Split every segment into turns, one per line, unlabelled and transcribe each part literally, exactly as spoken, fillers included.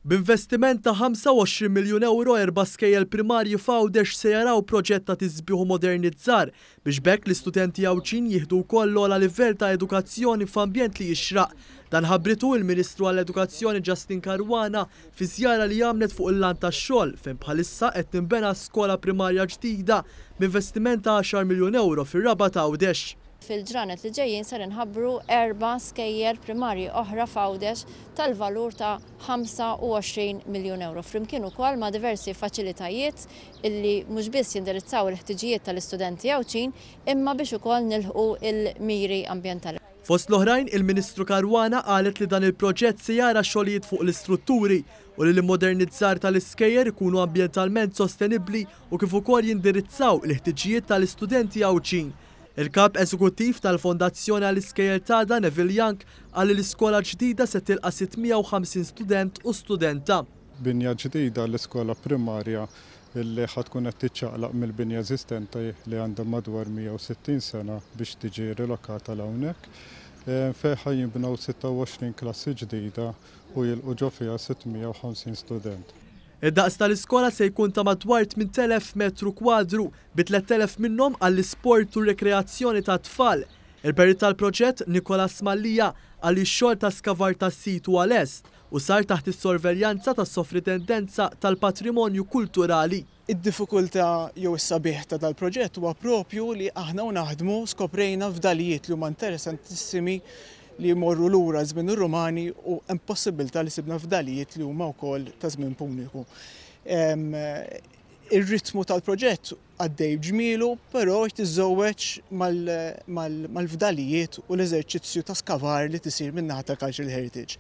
B'investiment ta' ħamsa u għoxrin miljun euro, erba' skejjel primarji f'Għawdex se jaraw proġett ta' tisbiħ u modernizzar biex b'hekk l-istudenti Għawdxin jieħdu wkoll l-ogħla livell ta' edukazzjoni f'ambjent li jixraq. Dan ħabbritu il-Ministru għall-Edukazzjoni Justyne Caruana fi żjara li għamlet fuq il-lant tax-xogħol fejn bħalissa qed tinbena skola primarja ġdida b'investiment ta' għaxar miljun euro fir-Rabat Għawdex.
Fil-ġranet li ġejjin ser inħabbru erba' skejjel primarji oħra f'Għawdex tal-valur ta' ħamsa u għoxrin miljun euro. Flimkien ukoll ma' diversi faċilitajiet illi mhux biss jindirizzaw il-ħtiġijiet tal-istudenti Għawdxin, imma biex ukoll nilħqu il-miri ambjentali.
Fost l-oħrajn, il-Ministru Caruana qalet li dan il-proġett se jara xogħlijiet fuq l-istrutturi u li l-modernizzar tal-iskejjel ikunu ambjentalment sostenibbli u kif ukoll jindirizzaw il-ħtiġijiet tal-istudenti Għawdxin. Il-kap eżekuttiv tal-Fondazzjoni għall-Iskejjel t'Għada, Neville Young, qal li l-iskola ġdida se tilqa' sitt mija u ħamsin student u studenta.
Binja ġdida l-iskola primarja illi ħa tkun qed tiċċaqlaq mill-binja eżistenti li għandha madwar mija u sittin sena biex tiġi rilokata 'l hawnhekk. Fejn ħa jinbnew sitta u għoxrin klassi ġdida u jilqu ġo fiha sitt mija u ħamsin student.
Id-daqs tal-iskola se jkun ta' madwar tmint elef metru kwadru, bi tlett elef minnhom għall-isport u rekreazzjoni ta' tfal. Il-perit tal-proġett Nikolas Mallia qal li x-xogħol ta' skavar tas-sit huwa lest u sar taħt is-sorveljanza tas-Sovritendenza tal-Patrimonju Kulturali.
Id-diffikultà jew is-sabiħ ta' dal-proġett huwa propju li aħna u naħdmu skoprejna fdalijiet li huma interessantissimi li jmorru lura żmien ir-Rumani u hemm possibilità li sibna fdalijiet li huma wkoll ta' żmien Puniku. Ir-ritmu tal-proġett għaddej ġmielu, però tiżżewweġ mal-fdalijiet u l-eżerċizzju ta' skavar li tisir min-naħa tal-Cultural Heritage.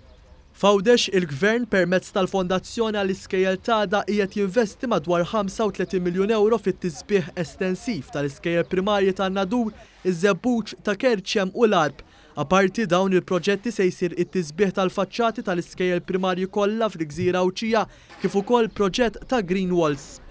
F'Għawdex, il-Gvern permezz tal-Fondazzjoni għall-Iskejjel t'Għada qiegħed jinvesti madwar ħamsa u tletin miljun euro fit-tisbiħ estensiv tal-iskejjel primarji tan-Nadur, iż-Żebbuġ, ta' Kerċem u l-Għarb. Aparti dawn il-proġetti, se jsir it-tisbiħ tal-faċċati tal-iskejjel primarji kollha fil-Gżira Għawdxija, kif ukoll proġett ta' Green Walls.